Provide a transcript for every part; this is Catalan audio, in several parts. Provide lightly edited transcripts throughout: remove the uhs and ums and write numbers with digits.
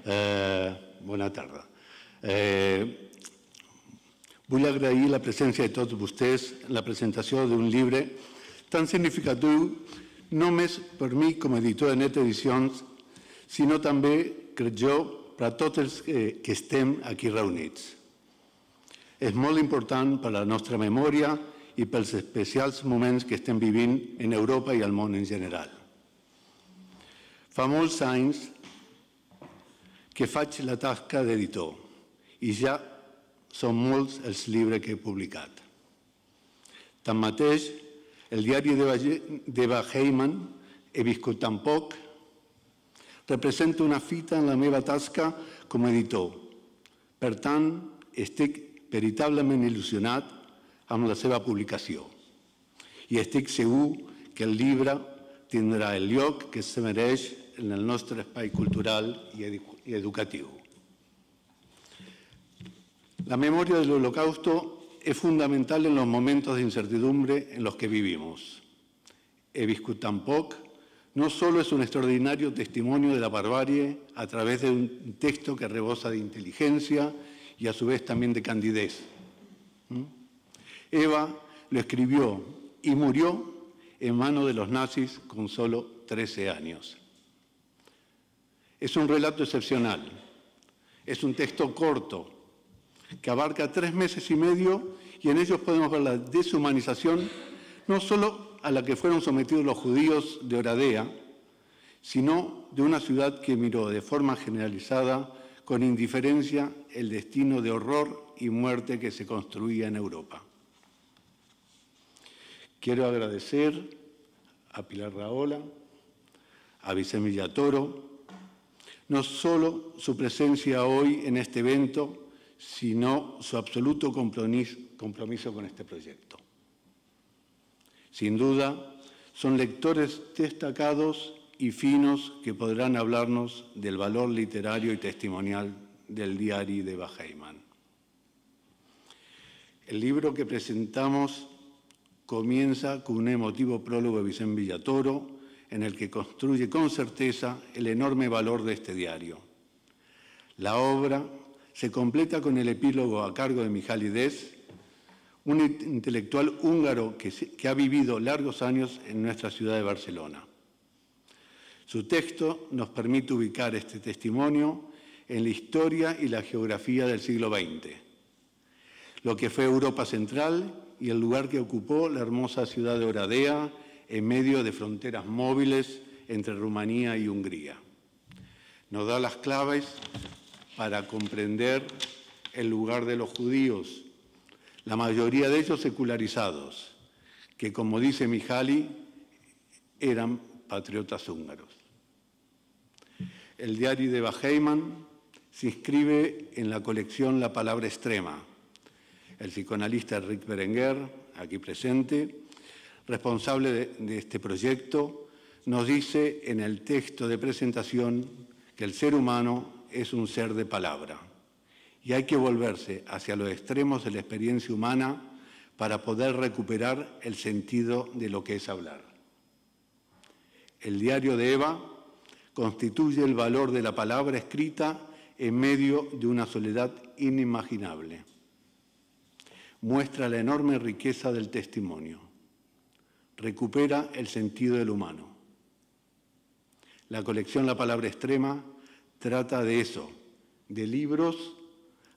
Bona tarda. Vull agrair la presència de tots vostès en la presentació d'un llibre tan significatiu no només per mi com a editor de Net Edicions, sinó també, crec jo, per a tots els que estem aquí reunits. És molt important per a la nostra memòria i pels especials moments que estem vivint en Europa i al món en general. Fa molts anys que faig la tasca d'editor i ja són molts els llibres que he publicat. Tanmateix, el diari d'Eva Heyman, He viscut tan poc, representa una fita en la meva tasca com a editor. Per tant, estic veritablement il·lusionat amb la seva publicació i estic segur que el llibre tindrà el lloc que se mereix en el nostre espai cultural y educativo. La memoria del Holocausto es fundamental en los momentos de incertidumbre en los que vivimos. He viscut tan poc no solo es un extraordinario testimonio de la barbarie a través de un texto que rebosa de inteligencia y a su vez también de candidez. Eva lo escribió y murió en manos de los nazis con solo 13 años. Es un relato excepcional, es un texto corto que abarca 3 meses y medio y en ellos podemos ver la deshumanización no solo a la que fueron sometidos los judíos de Oradea, sino de una ciudad que miró de forma generalizada con indiferencia el destino de horror y muerte que se construía en Europa. Quiero agradecer a Pilar Rahola, a Vicent Villatoro, no solo su presencia hoy en este evento, sino su absoluto compromiso con este proyecto. Sin duda, son lectores destacados y finos que podrán hablarnos del valor literario y testimonial del diario de Eva Heyman. El libro que presentamos comienza con un emotivo prólogo de Vicent Villatoro, en el que construye con certeza el enorme valor de este diario. La obra se completa con el epílogo a cargo de Mihaly Des, un intelectual húngaro que ha vivido largos años en nuestra ciudad de Barcelona. Su texto nos permite ubicar este testimonio en la historia y la geografía del siglo XX, lo que fue Europa Central y el lugar que ocupó la hermosa ciudad de Oradea en medio de fronteras móviles entre Rumanía y Hungría. Nos da las claves para comprender el lugar de los judíos, la mayoría de ellos secularizados, que, como dice Mihaly, eran patriotas húngaros. El diario de Eva Heyman se inscribe en la colección La Palabra Extrema. El psicoanalista Rick Berenguer, aquí presente, responsable de este proyecto, nos dice en el texto de presentación que el ser humano es un ser de palabra y hay que volverse hacia los extremos de la experiencia humana para poder recuperar el sentido de lo que es hablar. El diario de Eva constituye el valor de la palabra escrita en medio de una soledad inimaginable. Muestra la enorme riqueza del testimonio. Recupera el sentido del humano. La colección La Palabra Extrema trata de eso, de libros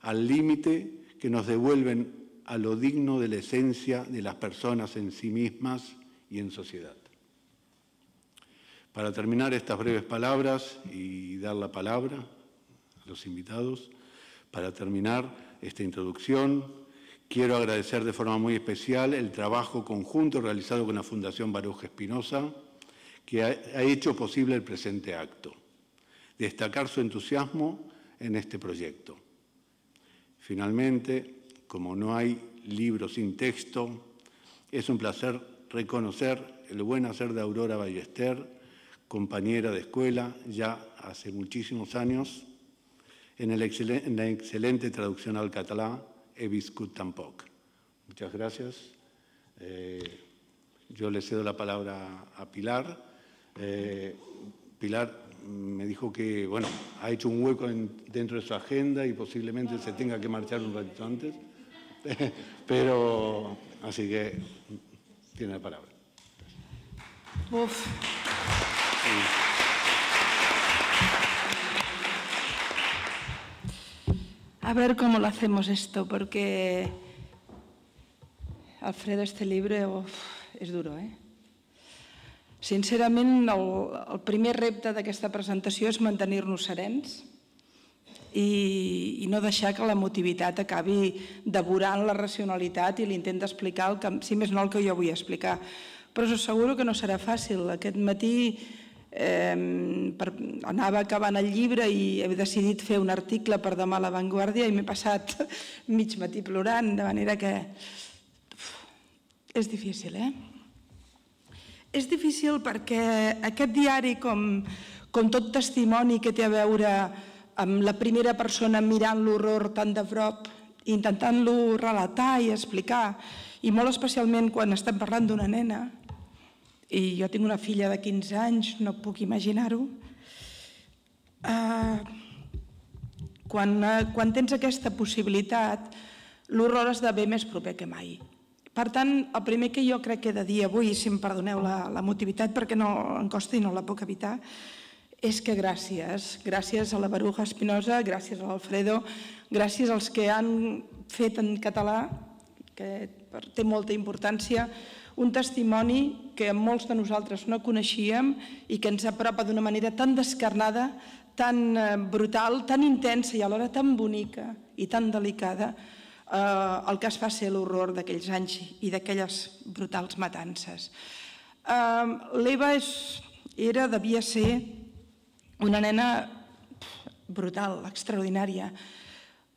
al límite que nos devuelven a lo digno de la esencia de las personas en sí mismas y en sociedad. Para terminar estas breves palabras y dar la palabra a los invitados, para terminar esta introducción, quiero agradecer de forma muy especial el trabajo conjunto realizado con la Fundación Baruch Espinosa, que ha hecho posible el presente acto. Destacar su entusiasmo en este proyecto. Finalmente, como no hay libro sin texto, es un placer reconocer el buen hacer de Aurora Ballester, compañera de escuela ya hace muchísimos años, en la excelente traducción al catalán He viscut tan poc. Muchas gracias. Yo le cedo la palabra a Pilar. Pilar, me dijo que, bueno, ha hecho un hueco dentro de su agenda y posiblemente se tenga que marchar un ratito antes. Pero, así que, tiene la palabra. Uf. A ver cómo lo hacemos esto, porque, Alfredo, este libro és duro, eh? Sincerament, el primer repte d'aquesta presentació és mantenir-nos serens i no deixar que l'emotivitat acabi devorant la racionalitat i l'intent d'explicar, si més no, el que jo vull explicar. Però us asseguro que no serà fàcil. Aquest matí anava acabant el llibre i he decidit fer un article per demà a La Vanguardia i m'he passat mig matí plorant, de manera que és difícil, eh? És difícil perquè aquest diari, com tot testimoni que té a veure amb la primera persona mirant l'horror tan de prop, intentant-lo relatar i explicar, i molt especialment quan estem parlant d'una nena, i jo tinc una filla de 15 anys, no puc imaginar-ho, quan tens aquesta possibilitat, l'horror esdevé més proper que mai. Per tant, el primer que jo crec que he de dir avui, si em perdoneu l'emotivitat perquè no em costa i no la puc evitar, és que gràcies a la Baruja Espinosa, gràcies a l'Alfredo, gràcies als que han fet en català, que té molta importància, un testimoni que molts de nosaltres no coneixíem i que ens apropa d'una manera tan descarnada, tan brutal, tan intensa i alhora tan bonica i tan delicada el que es fa ser l'horror d'aquells anys i d'aquelles brutals matances. L'Eva devia ser una nena brutal, extraordinària,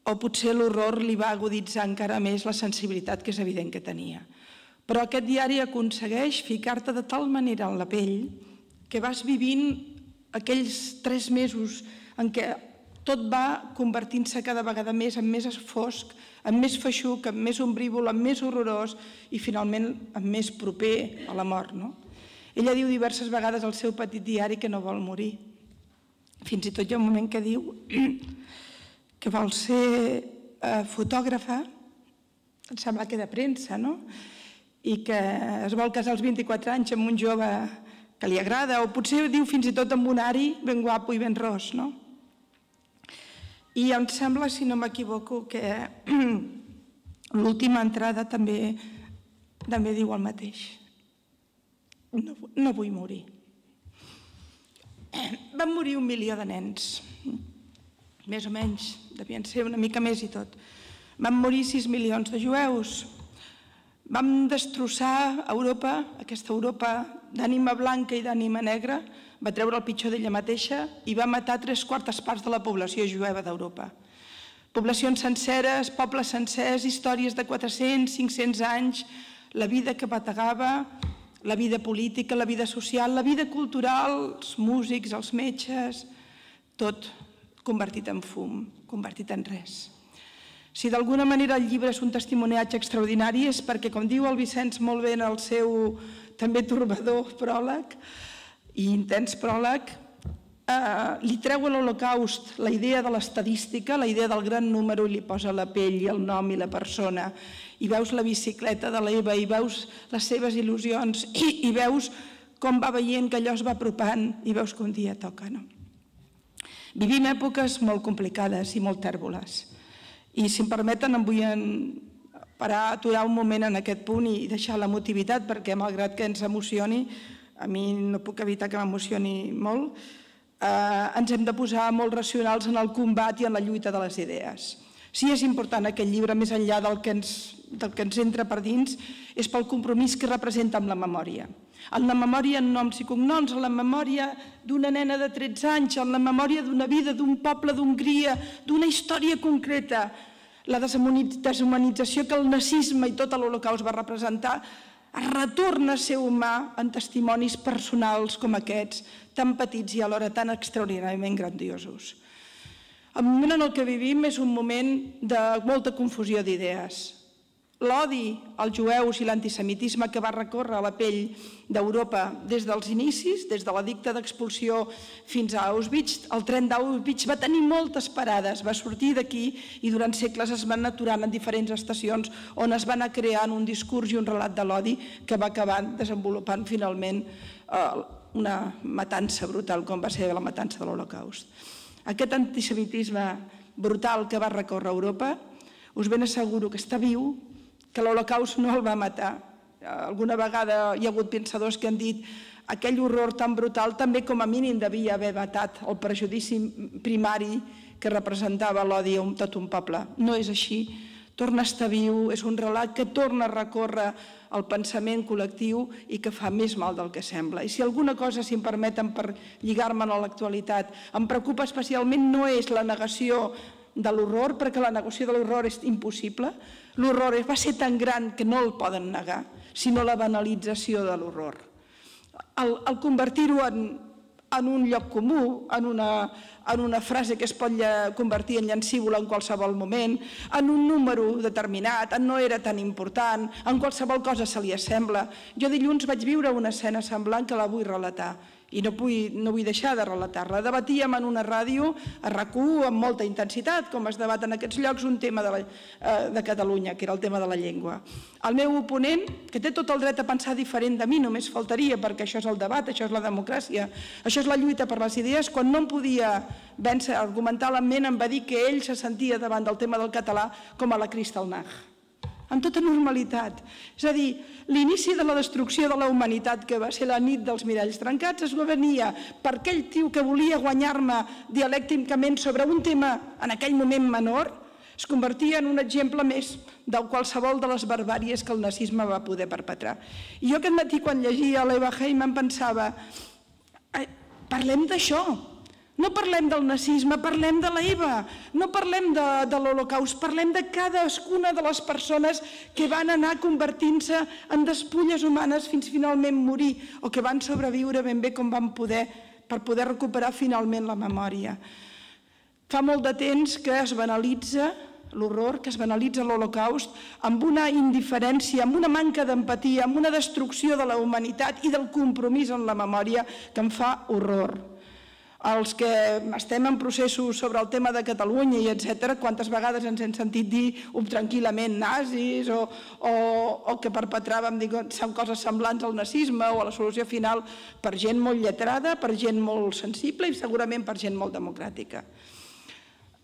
o potser l'horror li va aguditzar encara més la sensibilitat que és evident que tenia. Però aquest diari aconsegueix ficar-te de tal manera en la pell que vas vivint aquells 3 mesos en què tot va convertint-se cada vegada més en més fosc, en més feixuc, en més ombrívol, en més horrorós i finalment en més proper a la mort. Ella diu diverses vegades al seu petit diari que no vol morir. Fins i tot hi ha un moment que diu que vol ser fotògrafa, em sembla que de premsa, i que es vol casar als 24 anys amb un jove que li agrada, o potser diu fins i tot amb un ari ben guapo i ben ros, I em sembla, si no m'equivoco, que l'última entrada també diu el mateix. No vull morir. Van morir 1 milió de nens, més o menys, devien ser una mica més i tot. Van morir 6 milions de jueus. Vam destrossar Europa, aquesta Europa d'ànima blanca i d'ànima negra, va treure el pitjor d'ella mateixa i va matar 3/4 parts de la població jueva d'Europa. Poblacions senceres, pobles sencers, històries de 400, 500 anys, la vida que bategava, la vida política, la vida social, la vida cultural, els músics, els metges, tot convertit en fum, convertit en res. Si d'alguna manera el llibre és un testimoniatge extraordinari és perquè, com diu el Vicenç molt bé en el seu també torbador pròleg i intens pròleg, li treu a l'Holocaust la idea de l'estadística, la idea del gran número i li posa la pell i el nom i la persona i veus la bicicleta de l'Eva i veus les seves il·lusions i veus com va veient que allò es va apropant i veus que un dia toca. Vivim èpoques molt complicades i molt tèrboles. I si em permeten em vull aturar un moment en aquest punt i deixar l'emotivitat perquè malgrat que ens emocioni, a mi no puc evitar que m'emocioni molt, ens hem de posar molt racionals en el combat i en la lluita de les idees. Si és important aquest llibre, més enllà del que ens entra per dins, és pel compromís que representa amb la memòria. En la memòria en noms i cognoms, en la memòria d'una nena de 13 anys, en la memòria d'una vida, d'un poble d'Hongria, d'una història concreta. La deshumanització que el nazisme i tot l'Holocaust va representar es retorna a ser humà en testimonis personals com aquests, tan petits i alhora tan extraordinàriament grandiosos. El moment en el que vivim és un moment de molta confusió d'idees. l'odi als jueus i l'antisemitisme que va recórrer la pell d'Europa des dels inicis, des de l'edicte d'expulsió fins a Auschwitz. El tren d'Auschwitz va tenir moltes parades, va sortir d'aquí i durant segles es van aturant en diferents estacions on es va anar creant un discurs i un relat de l'odi que va acabar desenvolupant finalment una matança brutal com va ser la matança de l'Holocaust. Aquest antisemitisme brutal que va recórrer Europa, us ben asseguro que està viu, que l'Holocaust no el va matar. Alguna vegada hi ha hagut pensadors que han dit aquell horror tan brutal també com a mínim devia haver matat el prejudici primari que representava l'odi a tot un poble. No és així, torna a estar viu, és un relat que torna a recórrer el pensament col·lectiu i que fa més mal del que sembla. I si alguna cosa, si em permeten, per lligar-me'n a l'actualitat, em preocupa especialment no és la negació de l'horror, perquè la negació de l'horror és impossible. L'horror va ser tan gran que no el poden negar, sinó la banalització de l'horror. El convertir-ho en un lloc comú, en una frase que es pot convertir en llancívola en qualsevol moment, en un número determinat, en no era tan important, en qualsevol cosa se li assembla. Jo dilluns vaig viure una escena semblant que la vull relatar i no vull deixar de relatar-la. Debatíem en una ràdio, a RAC1, amb molta intensitat, com es debat en aquests llocs, un tema de Catalunya, que era el tema de la llengua. El meu oponent, que té tot el dret a pensar diferent de mi, només faltaria, perquè això és el debat, això és la democràcia, això és la lluita per les idees, quan no em podia vèncer argumentalment em va dir que ell se sentia davant del tema del català com a la Kristallnacht, amb tota normalitat. És a dir, l'inici de la destrucció de la humanitat, que va ser la nit dels miralls trencats, es venia per aquell tio que volia guanyar-me dialècticament sobre un tema en aquell moment menor, es convertia en un exemple més de qualsevol de les barbàries que el nazisme va poder perpetrar. I jo aquest matí, quan llegia l'Eva Heiman, pensava, parlem d'això. No parlem del nazisme, parlem de l'Eva, no parlem de l'Holocaust, parlem de cadascuna de les persones que van anar convertint-se en despulles humanes fins finalment morir o que van sobreviure ben bé com van poder per poder recuperar finalment la memòria. Fa molt de temps que es banalitza l'horror, que es banalitza l'Holocaust amb una indiferència, amb una manca d'empatia, amb una destrucció de la humanitat i del compromís en la memòria que em fa horror. Els que estem en processos sobre el tema de Catalunya i etc., quantes vegades ens hem sentit dir tranquil·lament nazis o que perpetràvem coses semblants al nazisme o a la solució final per gent molt lletrada, per gent molt sensible i segurament per gent molt democràtica.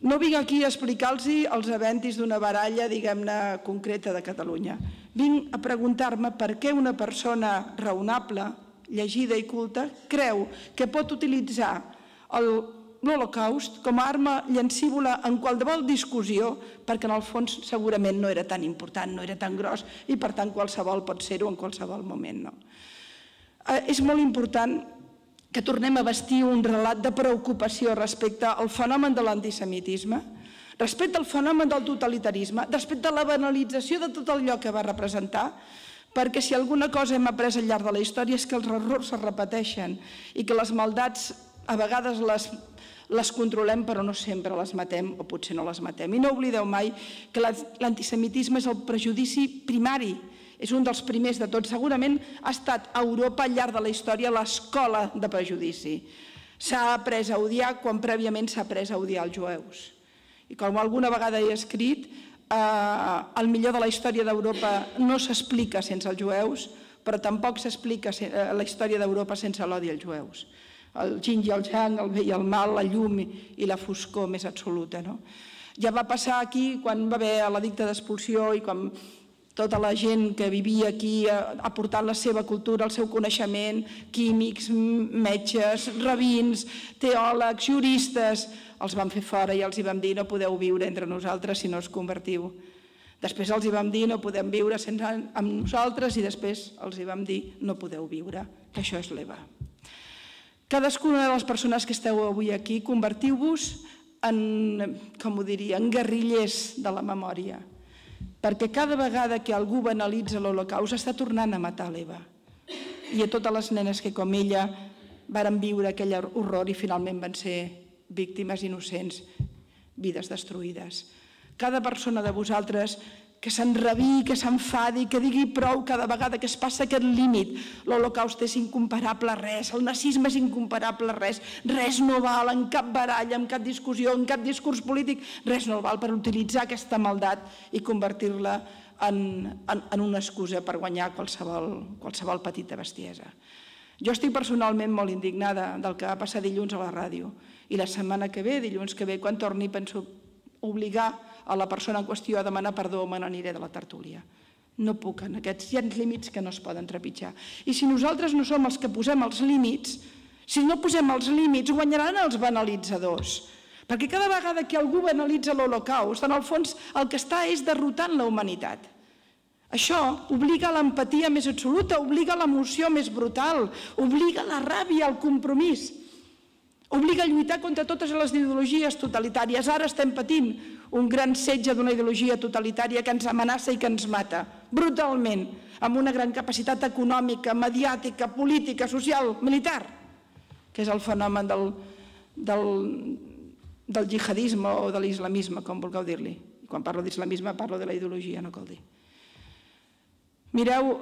No vinc aquí a explicar-los els aventis d'una baralla, diguem-ne, concreta de Catalunya. Vinc a preguntar-me per què una persona raonable, llegida i culta, creu que pot utilitzar l'Holocaust com a arma llancívola en qualsevol discussió, perquè en el fons segurament no era tan important, no era tan gros i per tant qualsevol pot ser-ho en qualsevol moment. És molt important que tornem a vestir un relat de preocupació respecte al fenomen de l'antisemitisme, respecte al fenomen del totalitarisme, respecte a la banalització de tot allò que va representar, perquè si alguna cosa hem après al llarg de la història és que els errors es repeteixen i que les maldats a vegades les controlem però no sempre les matem o potser no les matem. I no oblideu mai que l'antisemitisme és el prejudici primari, és un dels primers de tots. Segurament ha estat a Europa al llarg de la història l'escola de prejudici. S'ha après a odiar quan prèviament s'ha après a odiar els jueus. I com alguna vegada he escrit, el millor de la història d'Europa no s'explica sense els jueus, però tampoc s'explica la història d'Europa sense l'odi als jueus. El yin i el yang, el bé i el mal, la llum i la foscor més absoluta. Ja va passar aquí quan va haver l'edicte d'expulsió i quan tota la gent que vivia aquí ha portat la seva cultura, el seu coneixement, químics, metges, rabins, teòlegs, juristes, els vam fer fora i els vam dir no podeu viure entre nosaltres si no us convertiu. Després els vam dir no podem viure amb nosaltres i després els vam dir no podeu viure, que això és l'EVA. Cadascuna de les persones que esteu avui aquí, convertiu-vos en, com ho diria, en guerrillers de la memòria. Perquè cada vegada que algú banalitza l'Holocaust està tornant a matar l'Eva. I a totes les nenes que com ella varen viure aquell horror i finalment van ser víctimes innocents, vides destruïdes. Cada persona de vosaltres que s'enrabi, que s'enfadi, que digui prou cada vegada que es passa aquest límit. L'Holocaust és incomparable a res, el nazisme és incomparable a res, res no val en cap baralla, en cap discussió, en cap discurs polític, res no val per utilitzar aquesta maldat i convertir-la en una excusa per guanyar qualsevol petita bestiesa. Jo estic personalment molt indignada del que va passar dilluns a la ràdio i la setmana que ve, dilluns que ve, quan torni, penso obligar a la persona en qüestió a demanar perdó o me n'aniré de la tertúlia. No puc, en aquests hi ha límits que no es poden trepitjar. I si nosaltres no som els que posem els límits, si no posem els límits, guanyaran els banalitzadors. Perquè cada vegada que algú banalitza l'Holocaust, en el fons el que està és derrotant la humanitat. Això obliga a l'empatia més absoluta, obliga a l'emoció més brutal, obliga a la ràbia, al compromís, obliga a lluitar contra totes les ideologies totalitàries. Ara estem patint un gran setge d'una ideologia totalitària que ens amenaça i que ens mata, brutalment, amb una gran capacitat econòmica, mediàtica, política, social, militar, que és el fenomen del jihadisme o de l'islamisme, com vulgueu dir-li. Quan parlo d'islamisme parlo de la ideologia, no cal dir. Mireu,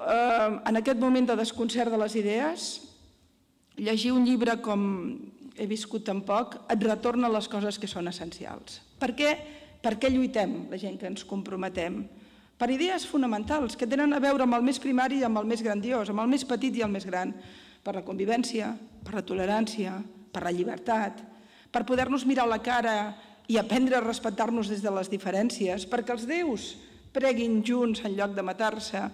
en aquest moment de desconcert de les idees, llegir un llibre com He viscut tan poc et retorna les coses que són essencials. Per què lluitem, la gent que ens comprometem? Per idees fonamentals que tenen a veure amb el més primari i amb el més grandiós, amb el més petit i el més gran, per la convivència, per la tolerància, per la llibertat, per poder-nos mirar a la cara i aprendre a respectar-nos des de les diferències, perquè els déus preguin junts en lloc de matar-se,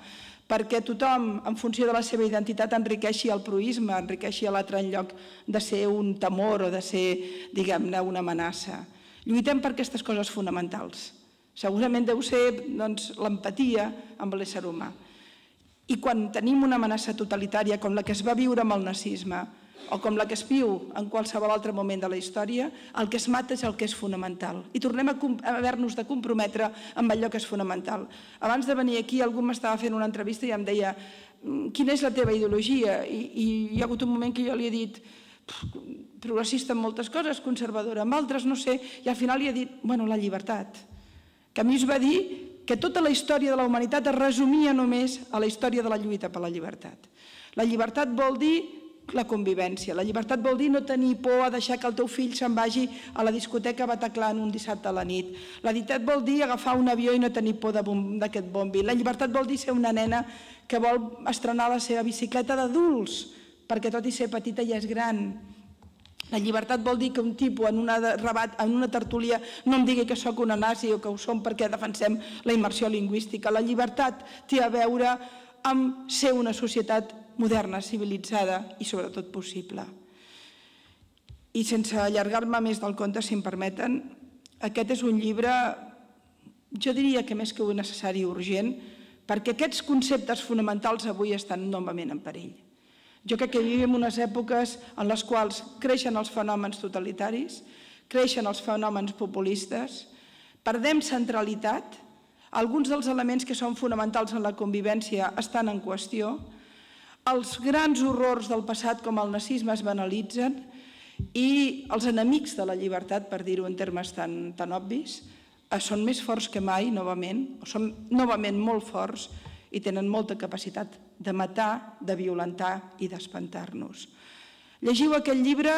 perquè tothom, en funció de la seva identitat, enriqueixi el proïsme, enriqueixi l'altre en lloc de ser un temor o de ser, diguem-ne, una amenaça. Lluitem per aquestes coses fonamentals. Segurament deu ser l'empatia amb l'ésser humà. I quan tenim una amenaça totalitària com la que es va viure amb el nazisme o com la que es viu en qualsevol altre moment de la història, el que es mata és el que és fonamental. I tornem a haver-nos de comprometre amb allò que és fonamental. Abans de venir aquí algú m'estava fent una entrevista i em deia quina és la teva ideologia? I hi ha hagut un moment que jo li he dit progressista en moltes coses, conservadora en altres, no sé, i al final li he dit, bueno, la llibertat. Que a mi es va dir que tota la història de la humanitat es resumia només a la història de la lluita per la llibertat. La llibertat vol dir la convivència. La llibertat vol dir no tenir por a deixar que el teu fill se'n vagi a la discoteca a Bataclan un dissabte a la nit. La llibertat vol dir agafar un avió i no tenir por d'aquest bombi. La llibertat vol dir ser una nena que vol estrenar la seva bicicleta d'adults, perquè tot i ser petita ja és gran. La llibertat vol dir que un tipus en una tertúlia no em digui que sóc una nazi o que ho som perquè defensem la immersió lingüística. La llibertat té a veure amb ser una societat moderna, civilitzada i sobretot possible. I sense allargar-me més del compte, si em permeten, aquest és un llibre, jo diria que més que necessari i urgent, perquè aquests conceptes fonamentals avui estan novament en perill. Jo crec que vivim unes èpoques en les quals creixen els fenòmens totalitaris, creixen els fenòmens populistes, perdem centralitat, alguns dels elements que són fonamentals en la convivència estan en qüestió, els grans horrors del passat com el nazisme es banalitzen i els enemics de la llibertat, per dir-ho en termes tan obvis, són més forts que mai, novament, són novament molt forts i tenen molta capacitat de matar, de violentar i d'espantar-nos. Llegiu aquest llibre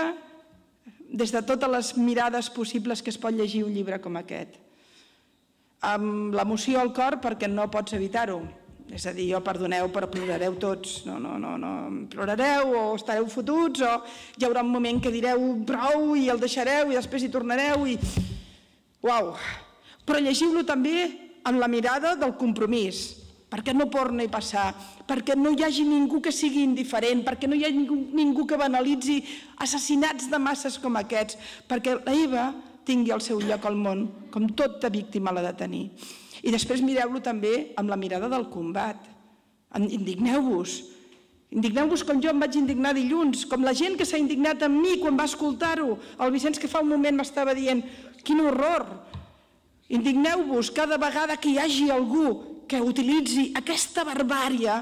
des de totes les mirades possibles que es pot llegir un llibre com aquest. Amb l'emoció al cor perquè no pots evitar-ho. És a dir, jo perdoneu, però plorareu tots. No, plorareu o estareu fotuts o hi haurà un moment que direu prou i el deixareu i després hi tornareu i... Uau! Però llegiu-lo també amb la mirada del compromís, perquè no torni a passar, perquè no hi hagi ningú que sigui indiferent, perquè no hi hagi ningú que banalitzi assassinats de masses com aquests, perquè la Eva tingui el seu lloc al món, com tota víctima l'ha de tenir. I després mireu-lo també amb la mirada del combat. Indigneu-vos. Indigneu-vos com jo em vaig indignar dilluns, com la gent que s'ha indignat amb mi quan va escoltar-ho. El Vicenç que fa un moment m'estava dient quin horror. Indigneu-vos cada vegada que hi hagi algú que utilitzi aquesta barbària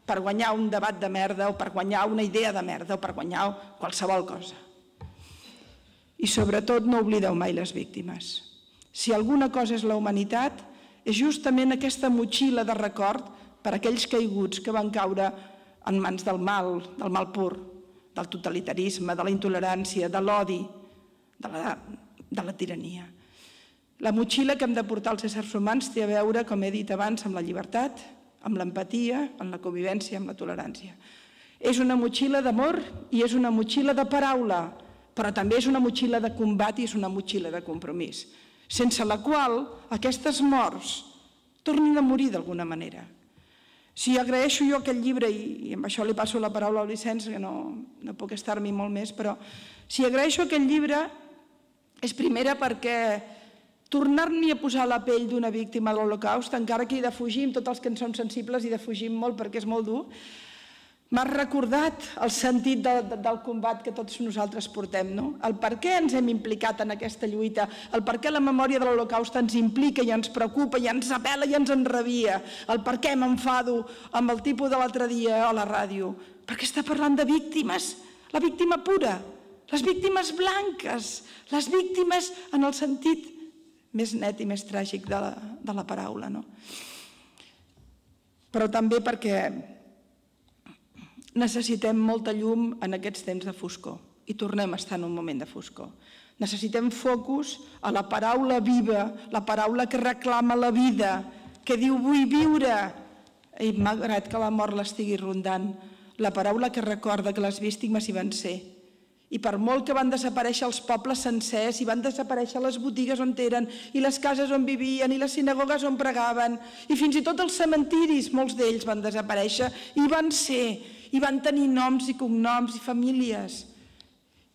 per guanyar un debat de merda o per guanyar una idea de merda o per guanyar qualsevol cosa. I sobretot no oblideu mai les víctimes. Si alguna cosa és la humanitat, és justament aquesta motxilla de record per a aquells caiguts que van caure en mans del mal pur, del totalitarisme, de la intolerància, de l'odi, de la tirania. La motxilla que hem de portar els éssers humans té a veure, com he dit abans, amb la llibertat, amb l'empatia, amb la convivència, amb la tolerància. És una motxilla d'amor i és una motxilla de paraula, però també és una motxilla de combat i és una motxilla de compromís, sense la qual aquestes morts tornin a morir d'alguna manera. Si agraeixo jo aquest llibre, i amb això li passo la paraula al Vicenç, que no puc estar-m'hi molt més, però si agraeixo aquest llibre és primera perquè tornar-m'hi a posar la pell d'una víctima de l'Holocaust, encara que hi defugim, tots els que en som sensibles hi defugim molt perquè és molt dur, m'ha recordat el sentit del combat que tots nosaltres portem, el per què ens hem implicat en aquesta lluita, el per què la memòria de l'Holocaust ens implica i ens preocupa i ens apel·la i ens enrabia, el per què m'enfado amb el tipus de l'altre dia a la ràdio, perquè està parlant de víctimes, la víctima pura, les víctimes blanques, les víctimes en el sentit més net i més tràgic de la paraula. Però també perquè necessitem molta llum en aquests temps de foscor i tornem a estar en un moment de foscor. Necessitem focus a la paraula viva, la paraula que reclama la vida, que diu vull viure, i malgrat que la mort l'estigui rondant, la paraula que recorda que les víctimes hi van ser. I per molt que van desaparèixer els pobles sencers, i van desaparèixer les botigues on eren, i les cases on vivien, i les sinagogues on pregaven, i fins i tot els cementiris, molts d'ells van desaparèixer, i van ser, i van tenir noms i cognoms i famílies.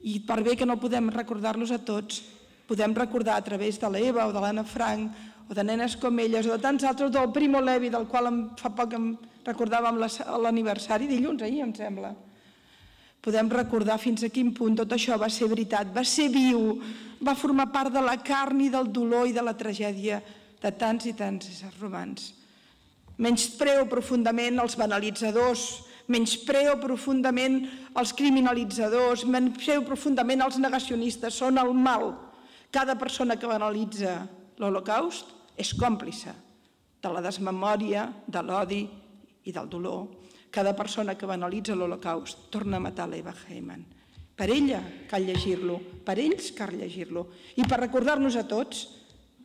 I per bé que no podem recordar-los a tots, podem recordar a través de l'Eva o de l'Anna Frank, o de nenes com elles, o de tants altres, del Primo Levi, del qual fa poc em recordàvem l'aniversari, dilluns, ahir em sembla. Podem recordar fins a quin punt tot això va ser veritat, va ser viu, va formar part de la carn i del dolor i de la tragèdia de tants i tants éssers humans. Menyspreo profundament els banalitzadors, menyspreo profundament els criminalitzadors, menyspreo profundament els negacionistes, són el mal. Cada persona que banalitza l'Holocaust és còmplice de la desmemòria, de l'odi i del dolor. Cada persona que banalitza l'Holocaust torna a matar l'Eva Heyman. Per ella cal llegir-lo, per ells cal llegir-lo. I per recordar-nos a tots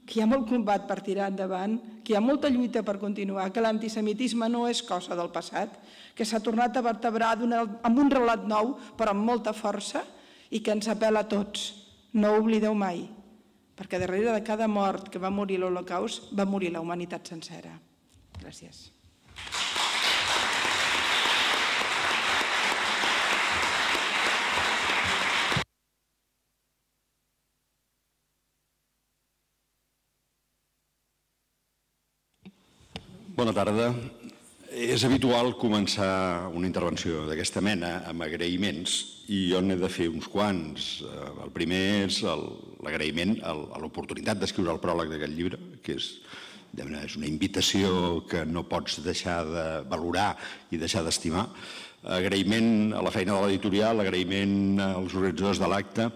que hi ha molt combat per tirar endavant, que hi ha molta lluita per continuar, que l'antisemitisme no és cosa del passat, que s'ha tornat a vertebrar amb un relat nou, però amb molta força, i que ens apel·la a tots. No ho oblideu mai, perquè darrere de cada mort que va morir l'Holocaust va morir la humanitat sencera. Gràcies. Bona tarda. És habitual començar una intervenció d'aquesta mena amb agraïments i jo n'he de fer uns quants. El primer és l'agraïment a l'oportunitat d'escriure el pròleg d'aquest llibre, que és una invitació que no pots deixar de valorar i deixar d'estimar. Agraïment a la feina de l'editorial, agraïment als organitzadors de l'acte.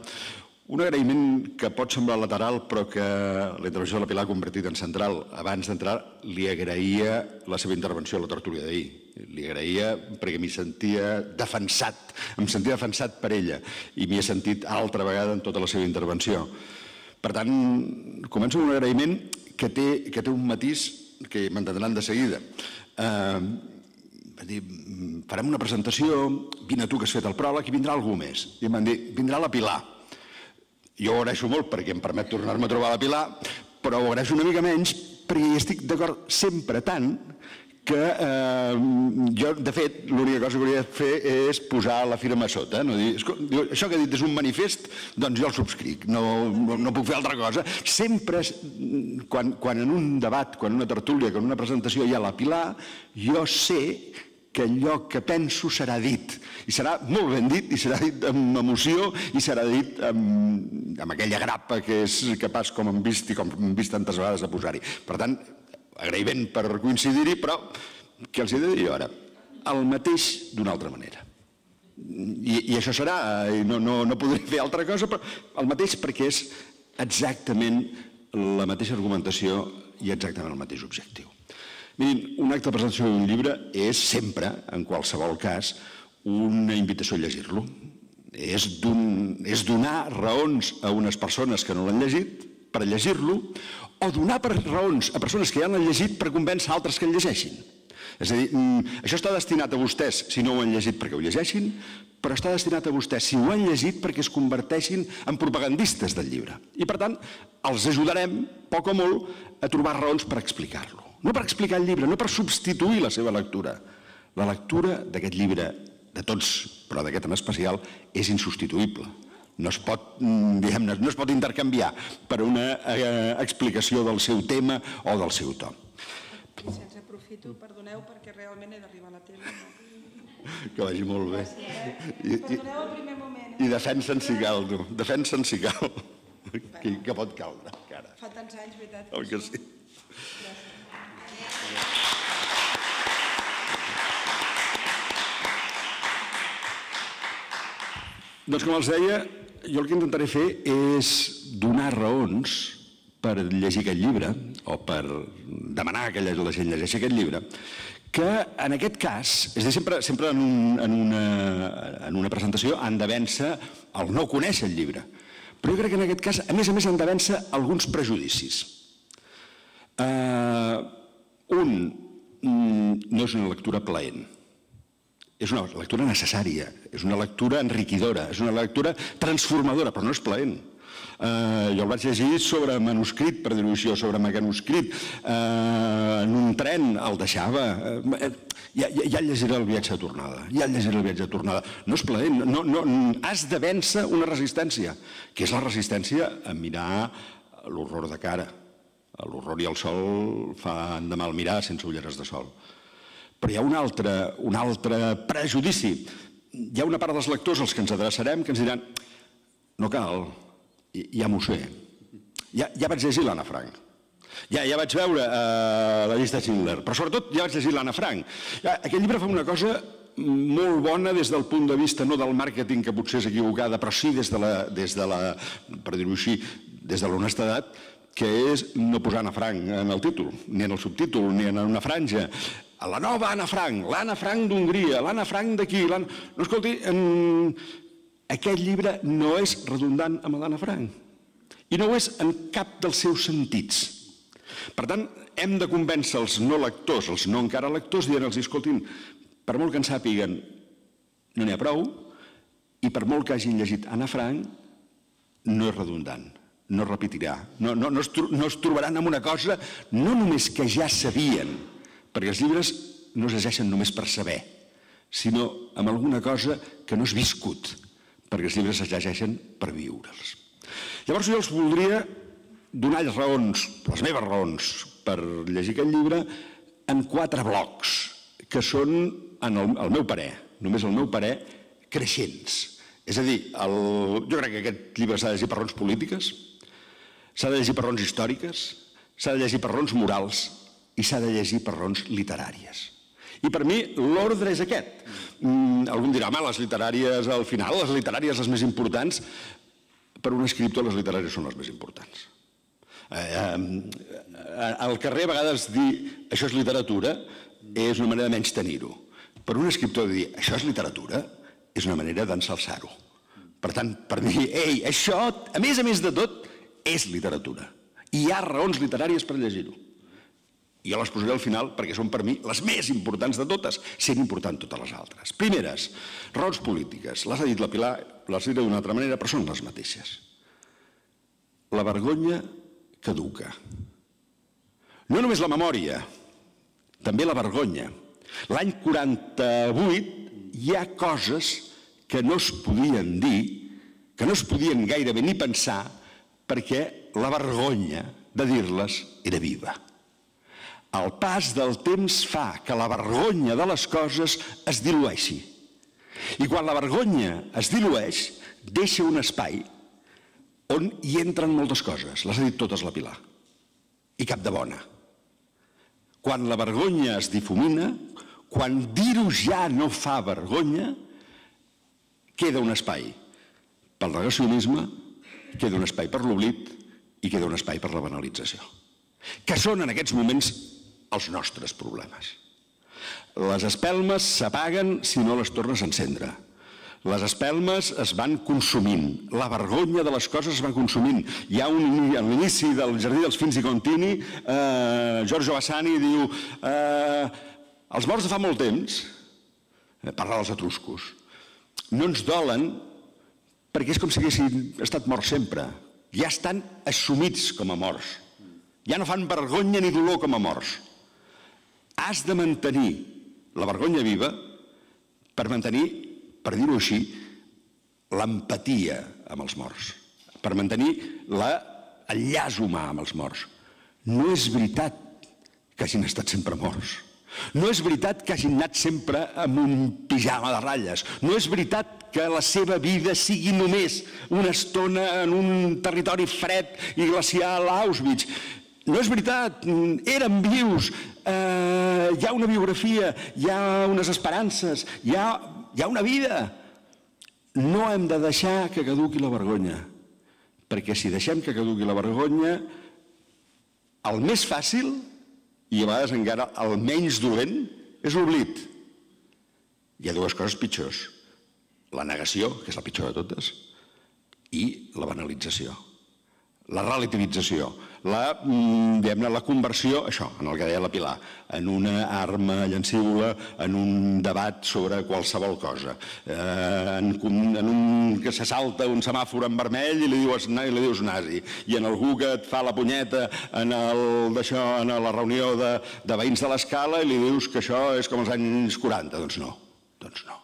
Un agraïment que pot semblar lateral, però que la intervenció de la Pilar ha convertit en central. Abans d'entrar, li agraïa la seva intervenció a la tertúlia d'ahir. Li agraïa perquè m'hi sentia defensat, em sentia defensat per ella i m'hi he sentit altra vegada en tota la seva intervenció. Per tant, començo amb un agraïment que té un matís que m'entendran de seguida. Farem una presentació, vine tu que has fet el pròleg i vindrà algú més. I em van dir, vindrà la Pilar. Jo ho agraeixo molt perquè em permet tornar-me a trobar la Pilar, però ho agraeixo una mica menys perquè hi estic d'acord sempre tant que jo, de fet, l'única cosa que hauria de fer és posar la firma a sota. Això que ha dit és un manifest, doncs jo el subscric, no puc fer altra cosa. Sempre, quan en un debat, quan en una tertúlia, quan en una presentació hi ha la Pilar, jo sé que allò que penso serà dit, i serà molt ben dit, i serà dit amb emoció, i serà dit amb aquella grapa que és capaç, com hem vist i com hem vist tantes vegades, de posar-hi. Per tant, agraïment per coincidir-hi, però què els he de dir ara? El mateix d'una altra manera. I això serà, no podré fer altra cosa, però el mateix perquè és exactament la mateixa argumentació i exactament el mateix objectiu. Mirin, un acte de presentació d'un llibre és sempre, en qualsevol cas, una invitació a llegir-lo. És donar raons a unes persones que no l'han llegit per llegir-lo, o donar raons a persones que ja l'han llegit per convèncer altres que el llegeixin. És a dir, això està destinat a vostès si no ho han llegit perquè ho llegeixin, però està destinat a vostès si ho han llegit perquè es converteixin en propagandistes del llibre. I per tant, els ajudarem, poc o molt, a trobar raons per explicar-lo. No per explicar el llibre, no per substituir la seva lectura. La lectura d'aquest llibre, de tots, però d'aquest en especial, és insubstituïble. No es pot intercanviar per una explicació del seu tema o del seu to. Se'ns aprofito, perdoneu, perquè realment he d'arribar a la tele. Que vagi molt bé. Perdoneu el primer moment. I defensa'n si cal, tu. Defensa'n si cal. Que pot caldre, encara. Fa tants anys, veritat. Oi que sí? Doncs com els deia, jo el que intentaré fer és donar raons per llegir aquest llibre o per demanar que la gent llegeixi aquest llibre, que en aquest cas, és a dir, sempre en una presentació han de vèncer el no conèixer el llibre. Però jo crec que en aquest cas, a més, han de vèncer alguns prejudicis. Un, no és una lectura plaent. És una lectura necessària, és una lectura enriquidora, és una lectura transformadora, però no és plaent. Jo el vaig llegir sobre manuscrit, per dir-ho així, o sobre mecanoscrit. En un tren el deixava. Ja el llegiré el viatge de tornada. Ja el llegiré el viatge de tornada. No és plaent. Has de vèncer una resistència, que és la resistència a mirar l'horror de cara. L'horror i el sol fan de mal mirar sense ulleres de sol. Però hi ha un altre prejudici. Hi ha una part dels lectors als que ens adreçarem que ens diran no cal, ja m'ho sé. Ja vaig llegir l'Anna Frank. Ja vaig veure la llista de Schindler, però sobretot ja vaig llegir l'Anna Frank. Aquest llibre fa una cosa molt bona des del punt de vista no del màrqueting, que potser és equivocada, però sí des de la, per dir-ho així, des de l'honestedat, que és no posar Anna Frank en el títol, ni en el subtítol, ni en una franja. La nova Anna Frank, l'Anna Frank d'Hongria, l'Anna Frank d'aquí... No, escolti, aquest llibre no és redundant amb l'Anna Frank. I no ho és en cap dels seus sentits. Per tant, hem de convèncer els no lectors, els no encara lectors, dient-los, escoltin, per molt que en sàpiguen, no n'hi ha prou, i per molt que hagin llegit Anna Frank, no és redundant, no repetirà. No es trobaran amb una cosa no només que ja sabien, perquè els llibres no es llegeixen només per saber, sinó amb alguna cosa que no és viscut, perquè els llibres es llegeixen per viure'ls. Llavors jo els voldria donar raons, les meves raons, per llegir aquest llibre en 4 blocs, que són, al meu parer, només el meu parer, creixents. És a dir, jo crec que aquest llibre s'ha de llegir per raons polítiques, s'ha de llegir per raons històriques, s'ha de llegir per raons morals, i s'ha de llegir per raons literàries. I per mi l'ordre és aquest. Algú em dirà, home, les literàries al final, les literàries les més importants, per un escriptor les literàries són les més importants. Al carrer a vegades dir això és literatura és una manera de menys tenir-ho. Per un escriptor dir això és literatura és una manera d'ensalçar-ho. Per tant, per dir, ei, això, a més de tot, és literatura. I hi ha raons literàries per llegir-ho. I jo les posaré al final perquè són per mi les més importants de totes, sent important totes les altres. Primeres, raons polítiques. Les ha dit la Pilar, les diré d'una altra manera, però són les mateixes. La vergonya caduca. No només la memòria, també la vergonya. L'any 48 hi ha coses que no es podien dir, que no es podien gairebé ni pensar, perquè la vergonya de dir-les era viva. El pas del temps fa que la vergonya de les coses es dilueixi. I quan la vergonya es dilueix, deixa un espai on hi entren moltes coses. Les ha dit totes la Pilar. I cap de bona. Quan la vergonya es difumina, quan dir-ho ja no fa vergonya, queda un espai pel negacionisme, queda un espai per l'oblit i queda un espai per la banalització, que són en aquests moments els nostres problemes. Les espelmes s'apaguen si no les tornes a encendre. Les espelmes es van consumint, la vergonya de les coses es va consumint. Hi ha a l'inici del Jardí dels Fins i Contini, Giorgio Vasari diu els morts de fa molt temps, parla dels etruscos, no ens dolen perquè és com si haguessin estat morts sempre. Ja estan assumits com a morts. Ja no fan vergonya ni dolor com a morts. Has de mantenir la vergonya viva per mantenir, per dir-ho així, l'empatia amb els morts, per mantenir el llaç humà amb els morts. No és veritat que hagin estat sempre morts. No és veritat que hagin anat sempre amb un pijama de ratlles. No és veritat que la seva vida sigui només una estona en un territori fred i glacial a Auschwitz. No és veritat, eren vius, hi ha una biografia, hi ha unes esperances, hi ha una vida. No hem de deixar que caduqui la vergonya, perquè si deixem que caduqui la vergonya, el més fàcil, i a vegades encara el menys dolent, és l'oblit. Hi ha dues coses pitjors, la negació, que és la pitjor de totes, i la banalització, la relativització, la conversió, això, en el que deia la Pilar, en una arma llancívola, en un debat sobre qualsevol cosa, en un que se salta un semàfor en vermell i li dius nazi, i en algú que et fa la punyeta en la reunió de veïns de l'Escala i li dius que això és com els anys 40. Doncs no.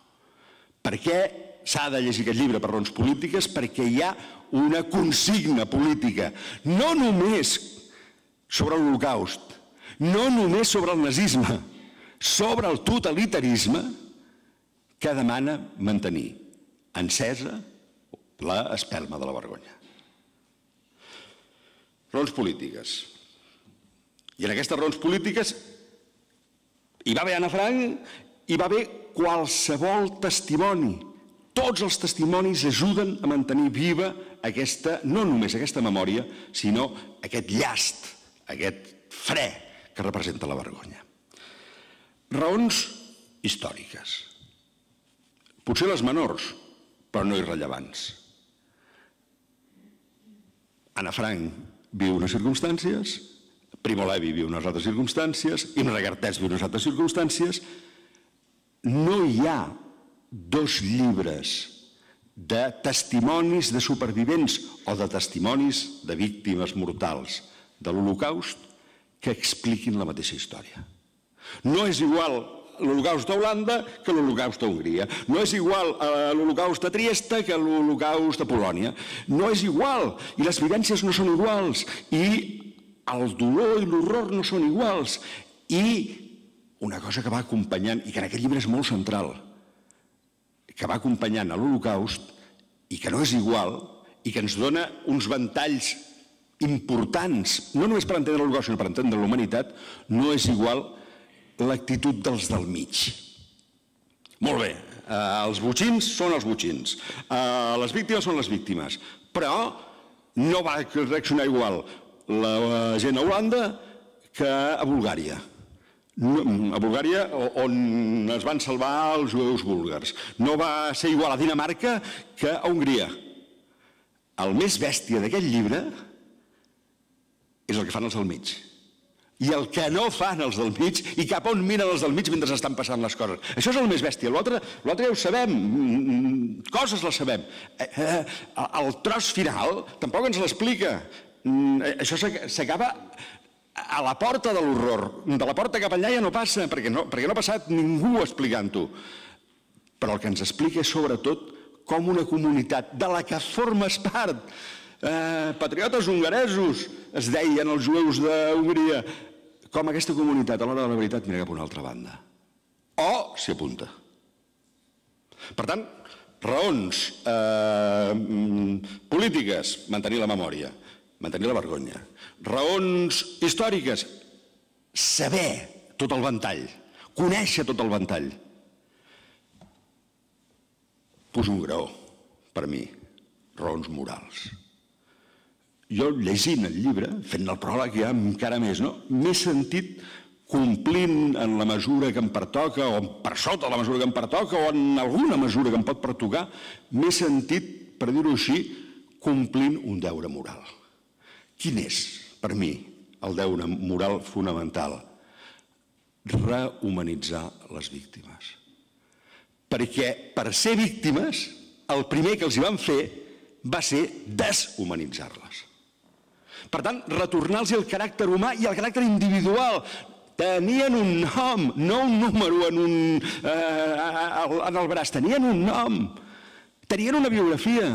Per què s'ha de llegir aquest llibre per raons polítiques? Perquè hi ha una consigna política, no només sobre l'Holocaust, no només sobre el nazisme, sobre el totalitarisme, que demana mantenir encesa l'espelma de la vergonya. Raons polítiques. I en aquestes raons polítiques hi va haver Anna Frank, hi va haver qualsevol testimoni. Tots els testimonis ajuden a mantenir viva no només aquesta memòria, sinó aquest llast, aquest fre que representa la vergonya. Raons històriques. Potser les menors, però no irrellevants. Anna Frank viu unes circumstàncies, Primo Levi viu unes altres circumstàncies, Imre Kertész viu unes altres circumstàncies. No hi ha dos llibres de testimonis de supervivents o de testimonis de víctimes mortals de l'Holocaust que expliquin la mateixa història. No és igual l'Holocaust a Holanda que l'Holocaust a Hongria. No és igual l'Holocaust a Trieste que l'Holocaust a Polònia. No és igual, i les vivències no són iguals, i el dolor i l'horror no són iguals. I una cosa que va acompanyant, i que en aquest llibre és molt central, que va acompanyant a l'Holocaust i que no és igual i que ens dona uns ventalls importants, no només per entendre l'Holocaust, sinó per entendre la humanitat, no és igual l'actitud dels del mig. Molt bé, els botxins són els botxins, les víctimes són les víctimes, però no va reaccionar igual la gent a Holanda que a Bulgària. A Bulgària, on es van salvar els jueus búlgars. No va ser igual a Dinamarca que a Hongria. El més bèstia d'aquest llibre és el que fan els del mig. I el que no fan els del mig, i cap on miren els del mig mentre estan passant les coses. Això és el més bèstia. L'altre ja ho sabem, coses les sabem. El tros final tampoc ens l'explica. Això s'acaba a la porta de l'horror. De la porta cap allà ja no passa, perquè no ha passat ningú explicant-ho. Però el que ens explica és sobretot com una comunitat de la que formes part, patriotes hongaresos, es deien els jueus d'Hongria, com aquesta comunitat a l'hora de la veritat mira cap a una altra banda. O s'hi apunta. Per tant, raons polítiques, mantenir la memòria, mantenir la vergonya. Raons històriques, saber tot el ventall, conèixer tot el ventall. Poso un graó, per mi, raons morals. jo llegint el llibre, fent el pròleg ja encara més, m'he sentit complint en la mesura que em pertoca, o per sota la mesura que em pertoca, o en alguna mesura que em pot pertocar, m'he sentit, per dir-ho així, complint un deure moral. Quin és, per mi, el deure moral fonamental? Rehumanitzar les víctimes. Perquè per ser víctimes, el primer que els hi van fer va ser deshumanitzar-les. Per tant, retornar-los el caràcter humà i el caràcter individual. Tenien un nom, no un número en el braç, tenien un nom, tenien una biografia.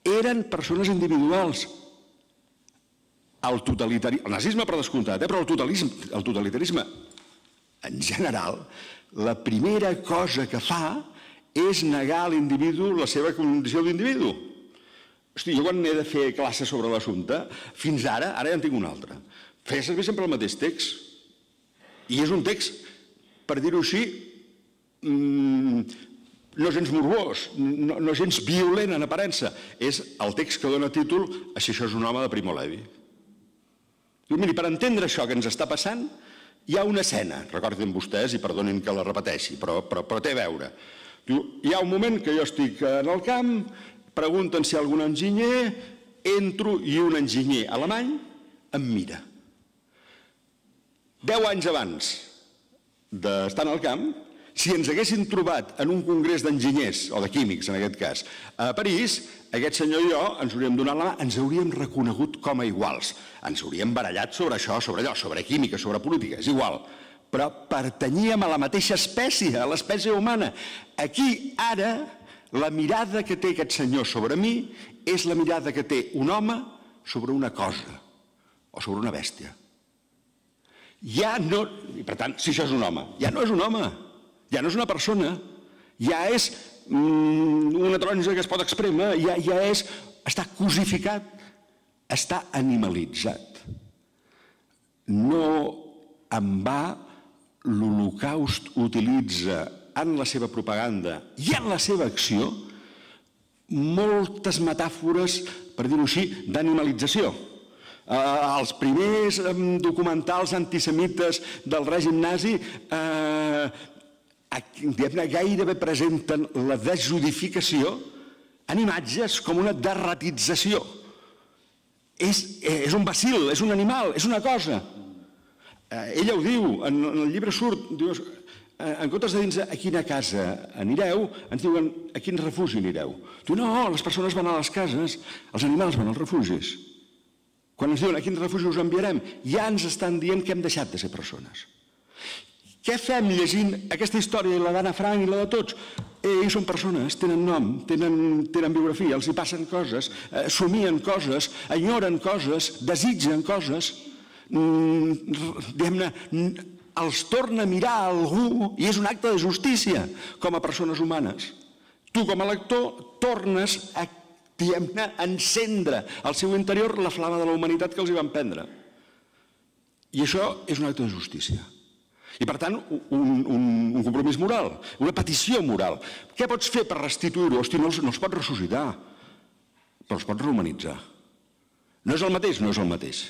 Eren persones individuals. El nazisme per descomptat, però el totalitarisme en general, la primera cosa que fa és negar a l'individu la seva condició d'individu. Hosti, jo quan he de fer classe sobre l'assumpte, fins ara ja en tinc un altre. Feia servir sempre el mateix text. I és un text, per dir-ho així, no gens morbós, no gens violent en aparença. És el text que dona títol a Si això és un home, de Primo Levi. Diu, miri, per entendre això que ens està passant, hi ha una escena, recordin vostès i perdonin que la repeteixi, però té a veure. Diu, hi ha un moment que jo estic en el camp, pregunten si hi ha algun enginyer, entro i un enginyer alemany em mira. 10 anys abans d'estar en el camp, si ens haguessin trobat en un congrés d'enginyers, o de químics en aquest cas, a París, aquest senyor i jo ens hauríem donat la mà, ens hauríem reconegut com a iguals. Ens hauríem barallat sobre això, sobre allò, sobre química, sobre política, és igual. Però pertanyíem a la mateixa espècie, a l'espècie humana. Aquí, ara, la mirada que té aquest senyor sobre mi és la mirada que té un home sobre una cosa, o sobre una bèstia. Ja no... I per tant, si això és un home, ja no és un home, ja no és una persona, ja és una taronja que es pot esprémer, ja és... està cosificat, està animalitzat. No en va l'Holocaust utilitza en la seva propaganda i en la seva acció moltes metàfores, per dir-ho així, d'animalització. Els primers documentals antisemites del règim nazi gairebé presenten la desjodificació en imatges com una derratització. És un bacil, és un animal, és una cosa. Ella ho diu, en el llibre surt, en comptes de dir-nos a quina casa anireu, ens diuen a quin refugi anireu. Diu, no, les persones van a les cases, els animals van als refugis. Quan ens diuen a quin refugi us enviarem, ja ens estan dient que hem deixat de ser persones. Què fem llegint aquesta història, la d'Anna Frank i la de tots? Ells són persones, tenen nom, tenen biografia, els hi passen coses, somien coses, enyoren coses, desitgen coses, diguem-ne, els torna a mirar a algú i és un acte de justícia com a persones humanes. Tu com a lector tornes a encendre al seu interior la flama de la humanitat que els hi van prendre. I això és un acte de justícia. I, per tant, un compromís moral, una petició moral. Què pots fer per restituir-ho? Hosti, no els pots ressuscitar, però els pots rehumanitzar. No és el mateix? No és el mateix,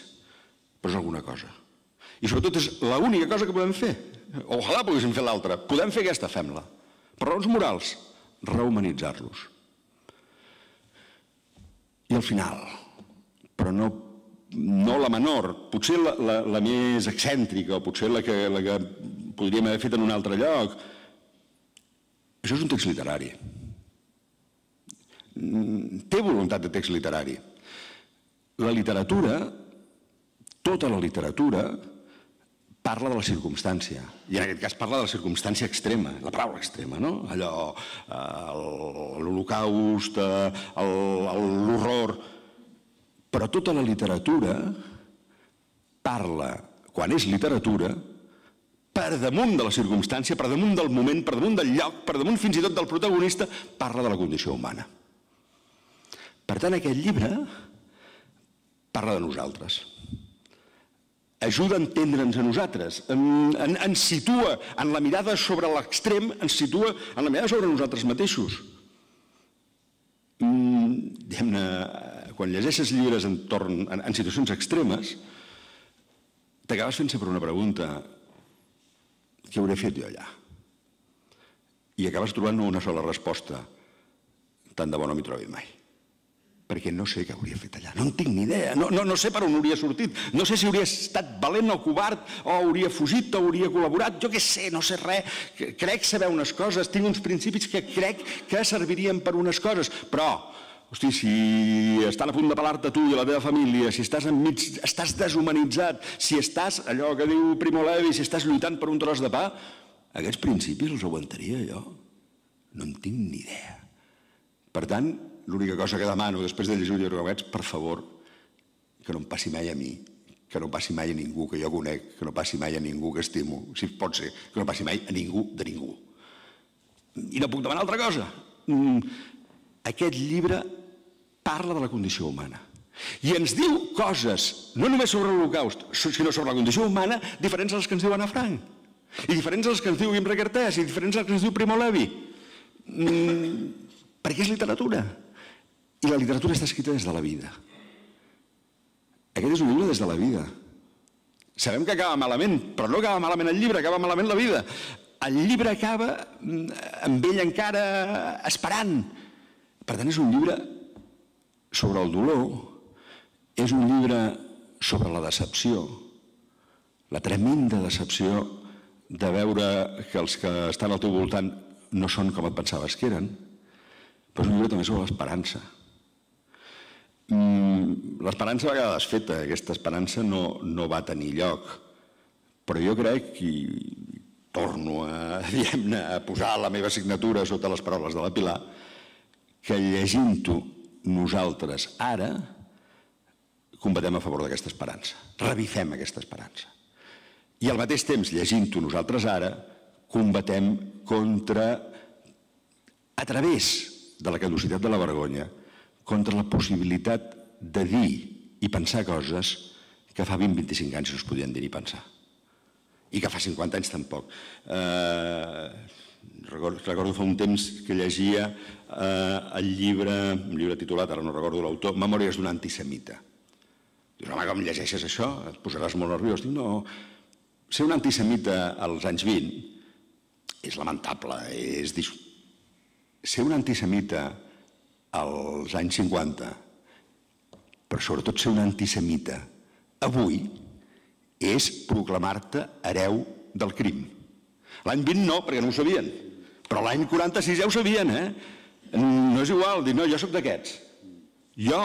però és alguna cosa. I, sobretot, és l'única cosa que podem fer. Ojalà poguéssim fer l'altra. Podem fer aquesta, fem-la. Per raons morals, rehumanitzar-los. I al final, però no la menor, potser la més excèntrica, o potser la que podríem haver fet en un altre lloc, això és un text literari. Té voluntat de text literari. La literatura, tota la literatura, parla de la circumstància. I en aquest cas parla de la circumstància extrema, la paraula extrema, no? Allò, l'Holocaust, l'horror. Però tota la literatura parla, quan és literatura, per damunt de la circumstància, per damunt del moment, per damunt del lloc, per damunt fins i tot del protagonista, parla de la condició humana. Per tant, aquest llibre parla de nosaltres. Ajuda a entendre'ns a nosaltres, ens situa en la mirada sobre l'extrem, ens situa en la mirada sobre nosaltres mateixos. Diguem-ne, quan llegeixes llibres en situacions extremes, t'acabes fent sempre una pregunta: què hauré fet jo allà? I acabes trobant una sola resposta: tant de bo no m'hi trobi mai. Perquè no sé què hauria fet allà, no en tinc ni idea, no sé per on hauria sortit, no sé si hauria estat valent o covard, o hauria fugit o hauria col·laborat, jo què sé, no sé res, crec saber unes coses, tinc uns principis que crec que servirien per unes coses, però, hosti, si estan a punt de pelar-te tu i la teva família, si estàs enmig, estàs deshumanitzat, si estàs, allò que diu Primo Levi, si estàs lluitant per un tros de pa, aquests principis els aguantaria jo? No en tinc ni idea. Per tant, l'única cosa que demano després de llegir el llibre d'aquests, per favor, que no em passi mai a mi, que no passi mai a ningú que jo conec, que no passi mai a ningú que estimo, si pot ser, que no passi mai a ningú de ningú. I no puc demanar altra cosa. Aquest llibre parla de la condició humana i ens diu coses, no només sobre l'Holocaust, sinó sobre la condició humana, diferents a les que ens diu Anna Frank, i diferents a les que ens diu Imre Kertész, i diferents a les que ens diu Primo Levi. Perquè és literatura. I la literatura està escrita des de la vida. Aquest és un llibre des de la vida. Sabem que acaba malament, però no acaba malament el llibre, acaba malament la vida. El llibre acaba amb ell encara esperant. Per tant, és un llibre sobre el dolor, és un llibre sobre la decepció, la tremenda decepció de veure que els que estan al teu voltant no són com et pensaves que eren, però és un llibre també sobre l'esperança. L'esperança va quedar desfeta, aquesta esperança no va tenir lloc, però jo crec, i torno a posar la meva signatura sota les paraules de la Pilar, que llegint-ho nosaltres ara combatem a favor d'aquesta esperança, revifem aquesta esperança. I al mateix temps, llegint-ho nosaltres ara, combatem contra, a través de la caducitat de la vergonya, contra la possibilitat de dir i pensar coses que fa 20-25 anys no es podien dir ni pensar. I que fa 50 anys tampoc. Recordo fa un temps que llegia un llibre titulat, ara no recordo l'autor, Memòries d'un antisemita. Dius, home, com llegeixes això? Et posaràs molt nerviós. Dic, no, ser un antisemita als anys 20 és lamentable. Ser un antisemita als anys 50, però sobretot ser un antisemita avui, és proclamar-te hereu del crim. L'any 20 no, perquè no ho sabien, però l'any 46 ja ho sabien, No és igual, dir, no, jo soc d'aquests. Jo,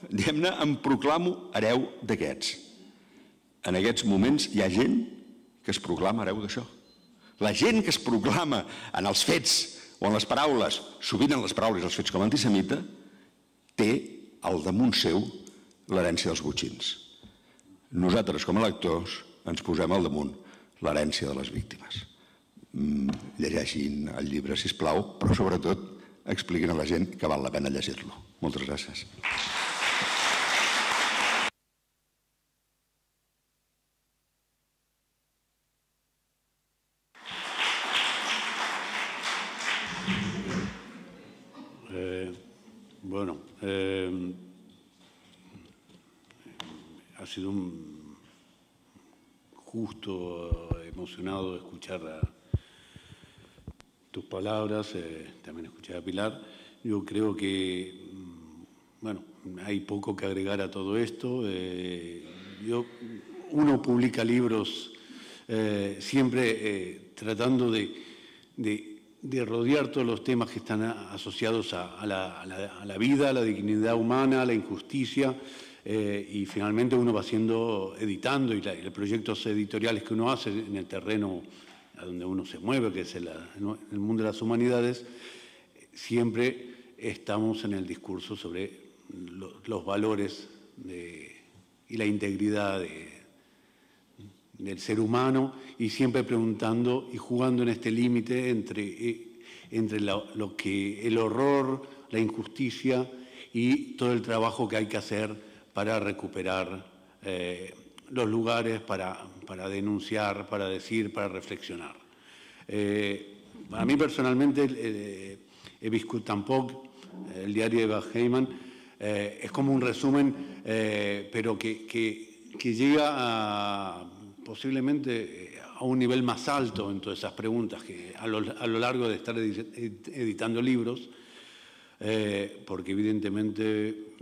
diguem-ne, em proclamo hereu d'aquests. En aquests moments hi ha gent que es proclama hereu d'això. La gent que es proclama en els fets o en les paraules, sovint en les paraules i els fets com a antisemita, té al damunt seu l'herència dels botxins. Nosaltres, com a lectors, ens posem al damunt l'herència de les víctimes. Llegeixin el llibre, sisplau, però sobretot expliquin a la gent que val la pena llegir-lo. Moltes gràcies. Bueno, ha sido justo, emocionado escuchar tus palabras, también escuchar a Pilar. Yo creo que, bueno, hay poco que agregar a todo esto. Uno publica libros siempre tratando de rodear todos los temas que están asociados a la vida, a la dignidad humana, a la injusticia, y finalmente uno va editando, y los proyectos editoriales que uno hace en el terreno a donde uno se mueve, que es el mundo de las humanidades, siempre estamos en el discurso sobre los valores y la integridad del ser humano, y siempre preguntando y jugando en este límite entre lo que el horror, la injusticia y todo el trabajo que hay que hacer para recuperar los lugares, para denunciar, para decir, para reflexionar. A mí personalmente, he viscut tampoc el diari de Eva Heyman, Es como un resumen, pero que llega posiblemente a un nivel más alto en todas esas preguntas que a lo largo de estar editando libros, porque evidentemente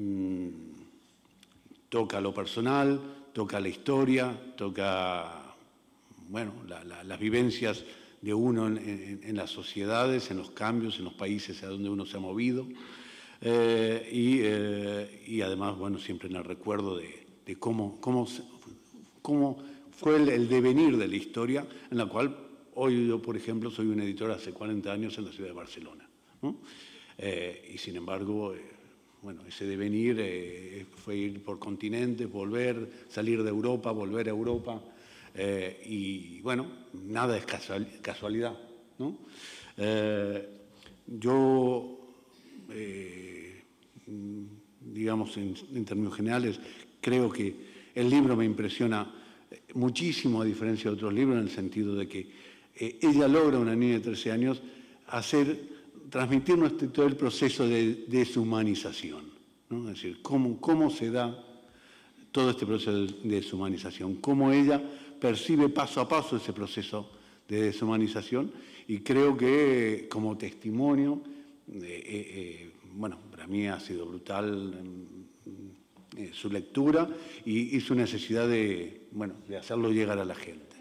toca lo personal, toca la historia, toca, bueno, las vivencias de uno en las sociedades, en los cambios, en los países a donde uno se ha movido, y además, bueno, siempre en el recuerdo de cómo fue el devenir de la historia, en la cual hoy yo, por ejemplo, soy un editor hace 40 años en la ciudad de Barcelona, ¿no? Y sin embargo, bueno, ese devenir fue ir por continentes, volver, salir de Europa, volver a Europa, y bueno, nada es casualidad, ¿no? Yo, digamos, en términos generales, creo que el libro me impresiona muchísimo a diferencia de otros libros, en el sentido de que ella logra, una niña de 13 años, transmitirnos todo el proceso de deshumanización, ¿no? Es decir, cómo se da todo este proceso de deshumanización, cómo ella percibe paso a paso ese proceso de deshumanización, y creo que como testimonio, bueno, para mí ha sido brutal su lectura y su necesidad de hacerlo llegar a la gente.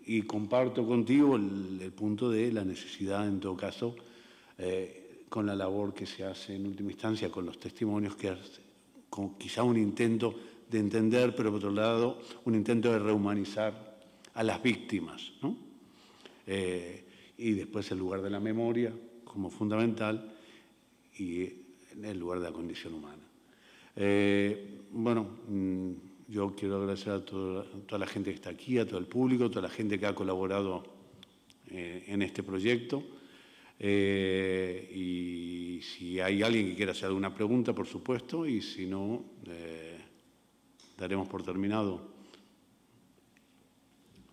Y comparto contigo el punto de la necesidad, en todo caso, con la labor que se hace en última instancia, con los testimonios, que con quizá un intento de entender, pero por otro lado un intento de rehumanizar a las víctimas, ¿no? Y después el lugar de la memoria como fundamental y el lugar de la condición humana. Bueno, yo quiero agradecer a toda la gente que está aquí, a todo el público, a toda la gente que ha colaborado en este proyecto. Y si hay alguien que quiera hacer alguna pregunta, por supuesto, y si no, daremos por terminado.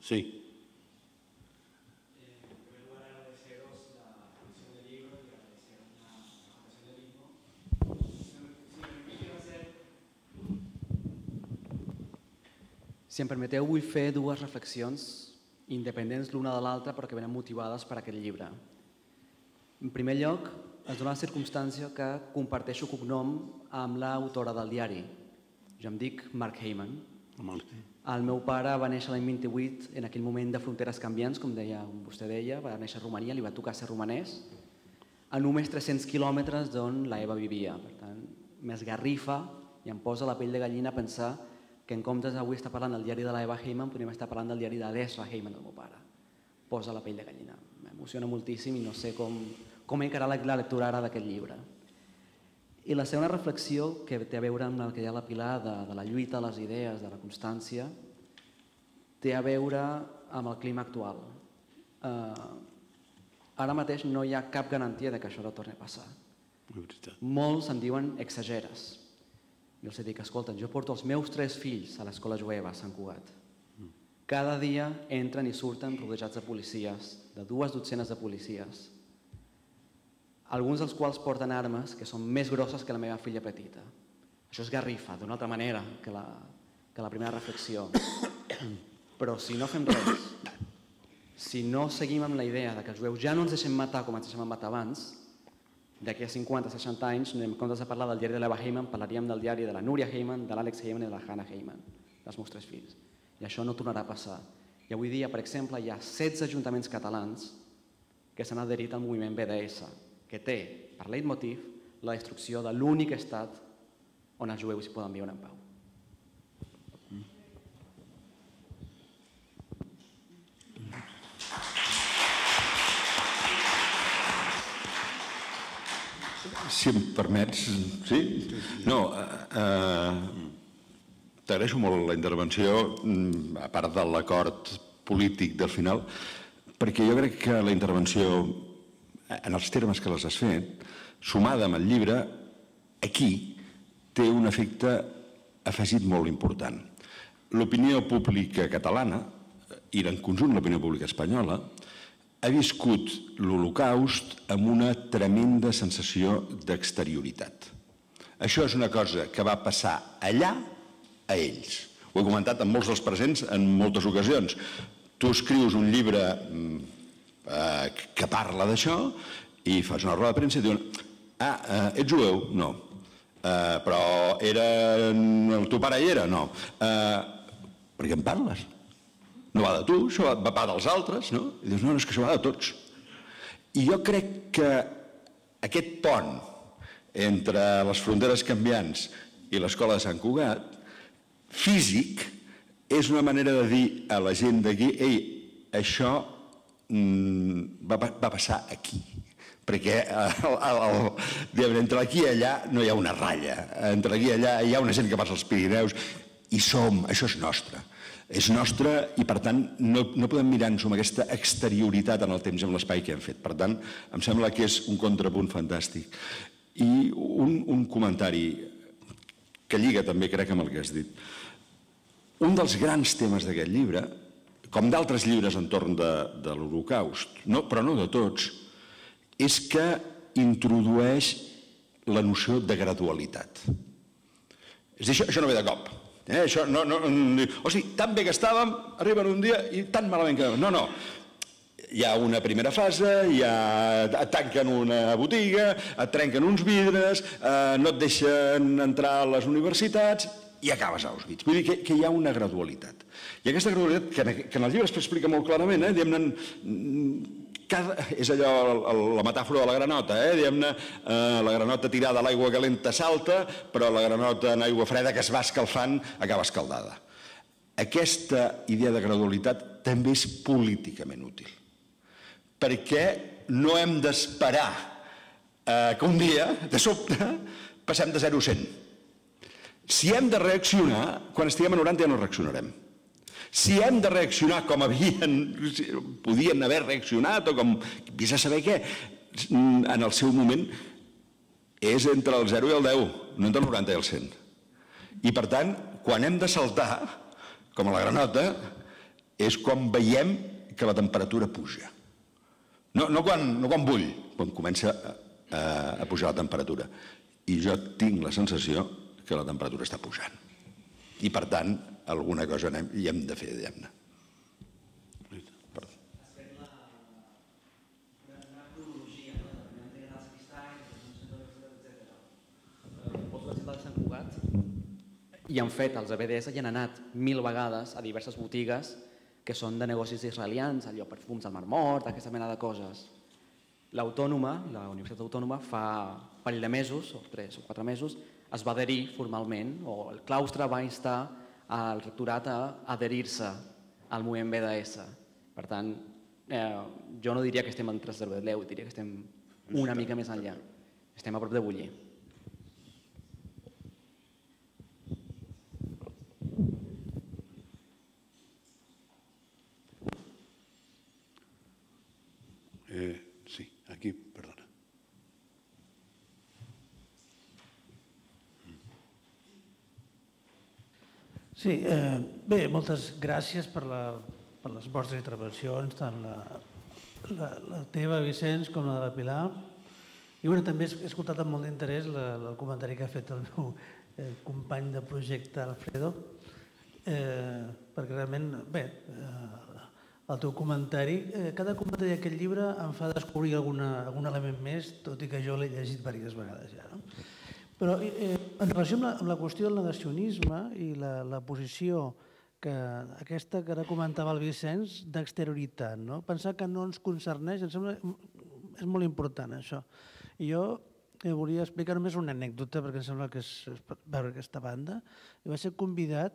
Sí. Si em permeteu, vull fer dues reflexions independents l'una de l'altra però que venen motivades per aquest llibre. En primer lloc, es dona la circumstància que comparteixo cognom amb l'autora del diari. Jo em dic Mark Heyman. El meu pare va néixer l'any 28, en aquell moment de fronteres canviants, com vostè deia, va néixer a Romania, li va tocar ser romanès, a només 300 quilòmetres d'on la Eva vivia. Per tant, m'esgarrifa i em posa la pell de gallina a pensar que en comptes d'avui estar parlant del diari de la Eva Heyman, podríem estar parlant del diari d'Ezra Heyman, del meu pare. Posa la pell de gallina. M'emociona moltíssim i no sé com encarar la lectura ara d'aquest llibre. I la segona reflexió, que té a veure amb el que hi ha a la Pilar, de la lluita, les idees, de la constància, té a veure amb el clima actual. Ara mateix no hi ha cap garantia que això no torni a passar. Molts em diuen exageres. Jo els dic, escolta, jo porto els meus 3 fills a l'escola jueva a Sant Cugat. Cada dia entren i surten rodejats de policies, de 2 dotzenes de policies, alguns dels quals porten armes que són més grosses que la meva filla petita. Això és garrifa, d'una altra manera que la primera reflexió. Però si no fem res, si no seguim amb la idea que els jueus ja no ens deixem matar com ens deixem matar abans, d'aquí a 50-60 anys, en comptes de parlar del diari de l'Eva Heyman, parlaríem del diari de la Núria Heyman, de l'Àlex Heyman i de la Hannah Heyman, dels meus 3 fills. I això no tornarà a passar. I avui dia, per exemple, hi ha 16 ajuntaments catalans que s'han adherit al moviment BDS, que té, per leitmotiv, la destrucció de l'únic estat on els jueus hi poden viure en pau. Si em permets, sí? No, t'agraeixo molt la intervenció, a part de l'acord polític del final, perquè jo crec que la intervenció, en els termes que les has fet, sumada amb el llibre, aquí té un efecte afegit molt important. L'opinió pública catalana, i en conjunt l'opinió pública espanyola, ha viscut l'Holocaust amb una tremenda sensació d'exterioritat. Això és una cosa que va passar allà a ells. Ho he comentat amb molts dels presents en moltes ocasions. Tu escrius un llibre que parla d'això i fas una roda de premsa i diuen ets jueu? No. Però el teu pare hi era? No. Per què en parles? No va de tu, això va dels altres, no? I dius, no, és que això va de tots. I jo crec que aquest pont entre les fronteres canviants i l'escola de Sant Cugat, físic, és una manera de dir a la gent d'aquí, ei, això va passar aquí. Perquè entre aquí i allà no hi ha una ratlla. Entre aquí i allà hi ha una gent que passa als Pirineus i això és nostre. És nostre i, per tant, no podem mirar-nos amb aquesta exterioritat en el temps i en l'espai que hem fet. Per tant, em sembla que és un contrapunt fantàstic. I un comentari que lliga també, crec, amb el que has dit. Un dels grans temes d'aquest llibre, com d'altres llibres entorn de l'Holocaust, però no de tots, és que introdueix la noció de gradualitat. És a dir, això no ve de cop. O sigui, tan bé que estàvem, arriben un dia i tan malament que... No. Hi ha una primera fase, et tanquen una botiga, et trenquen uns vidres, no et deixen entrar a les universitats i acabes a Auschwitz. Vull dir que hi ha una gradualitat. I aquesta gradualitat, que en el llibre es explica molt clarament, és allò, la metàfora de la granota, diguem-ne, la granota tirada a l'aigua calenta salta, però la granota en aigua freda que es va escalfant acaba escaldada. Aquesta idea de gradualitat també és políticament útil, perquè no hem d'esperar que un dia, de sobte, passem de 0 a 100. Si hem de reaccionar, quan estiguem a 90 ja no reaccionarem. Si hem de reaccionar com podien haver reaccionat o com vés a saber què, en el seu moment és entre el 0 i el 10, no entre el 90 i el 100. I per tant, quan hem de saltar, com a la granota, és quan veiem que la temperatura puja. No quan bull, quan comença a pujar la temperatura. I jo tinc la sensació que la temperatura està pujant. I per tant, alguna cosa hi hem de fer, diguem-ne. Has fet una cronologia de l'integrant dels cristalls, etc. Poso l'exemple de Sant Cugat i han fet els ABDS i han anat 1000 vegades a diverses botigues que són de negocis israelians, allò perfums al Mar Mort, aquesta mena de coses. L'Autònoma, la Universitat Autònoma, fa un parell de mesos, o 3 o 4 mesos, es va adherir formalment, o el claustre va instar al rectorat a adherir-se al moviment BDS. Per tant, jo no diria que estem entre 0 i 10, diria que estem una mica més enllà. Estem a prop de bullir. Sí, aquí, perdona. Sí, bé, moltes gràcies per les vostres intervencions, tant la teva, Vicenç, com la de Pilar. I també he escoltat amb molt d'interès el comentari que ha fet el meu company de projecte, Alfredo, perquè realment, bé, el teu comentari, cada comentari d'aquest llibre em fa descobrir algun element més, tot i que jo l'he llegit diverses vegades ja, no? Però en relació amb la qüestió del negacionisme i la posició aquesta que ara comentava el Vicenç d'exterioritat, no? Pensar que no ens concerneix, em sembla és molt important això. I jo volia explicar només una anècdota perquè em sembla que és veure aquesta banda. I vaig ser convidat,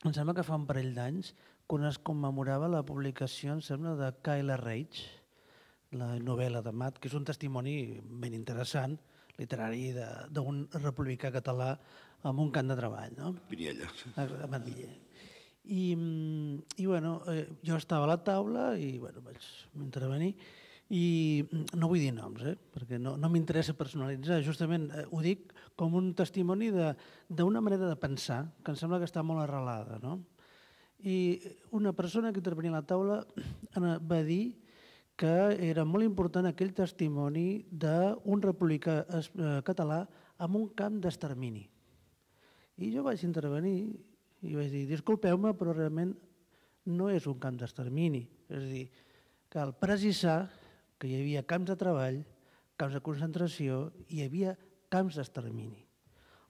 em sembla que fa un parell d'anys, quan es commemorava la publicació, em sembla, de Kayla Reich, la novel·la de Matt, que és un testimoni ben interessant, literari d'un republicà català amb un camp de treball. Piniella. A Mandilla. I jo estava a la taula i vaig intervenir i no vull dir noms, perquè no m'interessa personalitzar, justament ho dic com un testimoni d'una manera de pensar que em sembla que està molt arrelada. I una persona que intervenia a la taula va dir que era molt important aquell testimoni d'un republicà català en un camp d'extermini. I jo vaig intervenir i vaig dir, disculpeu-me, però realment no és un camp d'extermini. És a dir, cal precisar que hi havia camps de treball, camps de concentració, hi havia camps d'extermini,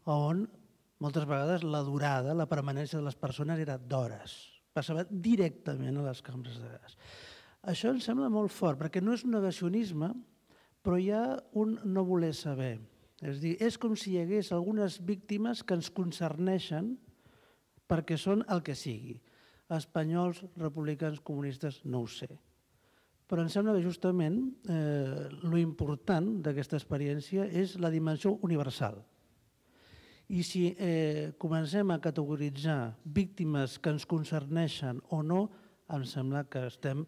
on moltes vegades la durada, la permanència de les persones era d'hores. Passava directament a les cambres de gas. Això em sembla molt fort, perquè no és un negacionisme, però hi ha un no voler saber. És a dir, és com si hi hagués algunes víctimes que ens concerneixen perquè són el que sigui. Espanyols, republicans, comunistes, no ho sé. Però em sembla que justament lo important d'aquesta experiència és la dimensió universal. I si comencem a categoritzar víctimes que ens concerneixen o no, em sembla que estem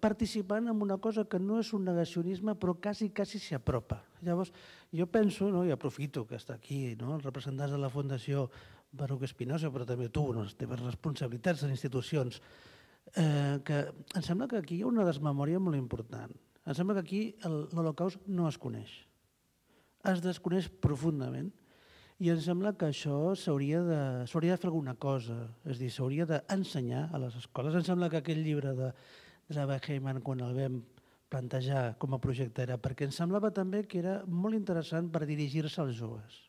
participant en una cosa que no és un negacionisme, però quasi s'hi apropa. Llavors, jo penso, i aprofito que està aquí els representants de la Fundació Baruch Spinoza, però també tu, les teves responsabilitats en institucions, que em sembla que aquí hi ha una desmemòria molt important. Em sembla que aquí l'Holocaust no es coneix. Es desconeix profundament. I em sembla que això s'hauria de fer alguna cosa, és a dir, s'hauria d'ensenyar a les escoles. Em sembla que aquell llibre de Zava Heyman, quan el vam plantejar com a projecte, era perquè em semblava també que era molt interessant per dirigir-se als joves.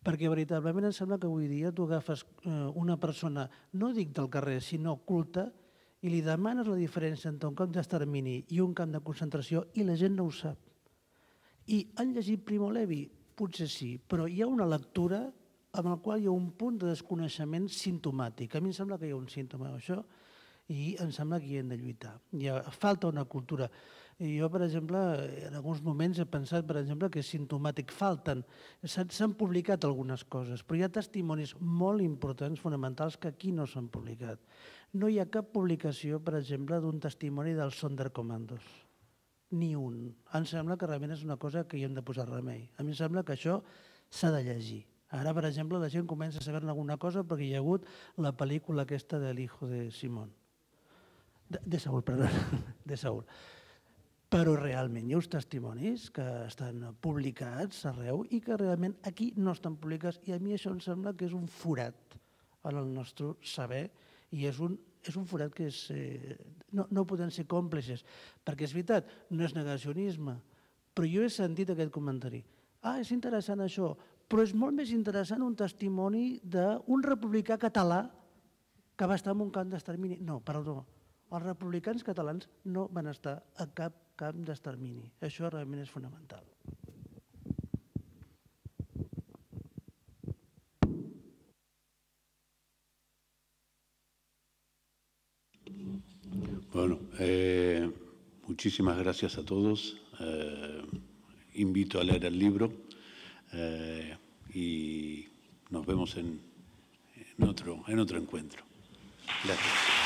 Perquè veritablement em sembla que avui dia tu agafes una persona, no dic del carrer, sinó culta, i li demanes la diferència entre un camp d'extermini i un camp de concentració i la gent no ho sap. I han llegit Primo Levi? Potser sí, però hi ha una lectura amb la qual hi ha un punt de desconeixement simptomàtic. A mi em sembla que hi ha un símptoma d'això i em sembla que hi hem de lluitar. Falta una cultura. Jo, per exemple, en alguns moments he pensat, per exemple, que és simptomàtic. S'han publicat algunes coses, però hi ha testimonis molt importants, fonamentals, que aquí no s'han publicat. No hi ha cap publicació, per exemple, d'un testimoni dels Sonderkommandos. Ni un. Em sembla que realment és una cosa que hi hem de posar remei. A mi em sembla que això s'ha de llegir. Ara, per exemple, la gent comença a saber alguna cosa perquè hi ha hagut la pel·lícula aquesta de l'hijo de Simón. De Saúl, perdó, de Saúl. Però realment hi ha uns testimonis que estan publicats arreu i que realment aquí no estan publicats, i a mi això em sembla que és un forat en el nostre saber i és un forat que no podem ser còmplices, perquè és veritat, no és negacionisme, però jo he sentit aquest comentari. És interessant això, però és molt més interessant un testimoni d'un republicà català que va estar en un camp d'extermini. No, perdó, els republicans catalans no van estar a cap camp d'extermini. Això realment és fonamental. Bueno, muchísimas gracias a todos. Invito a leer el libro y nos vemos en otro encuentro. Gracias.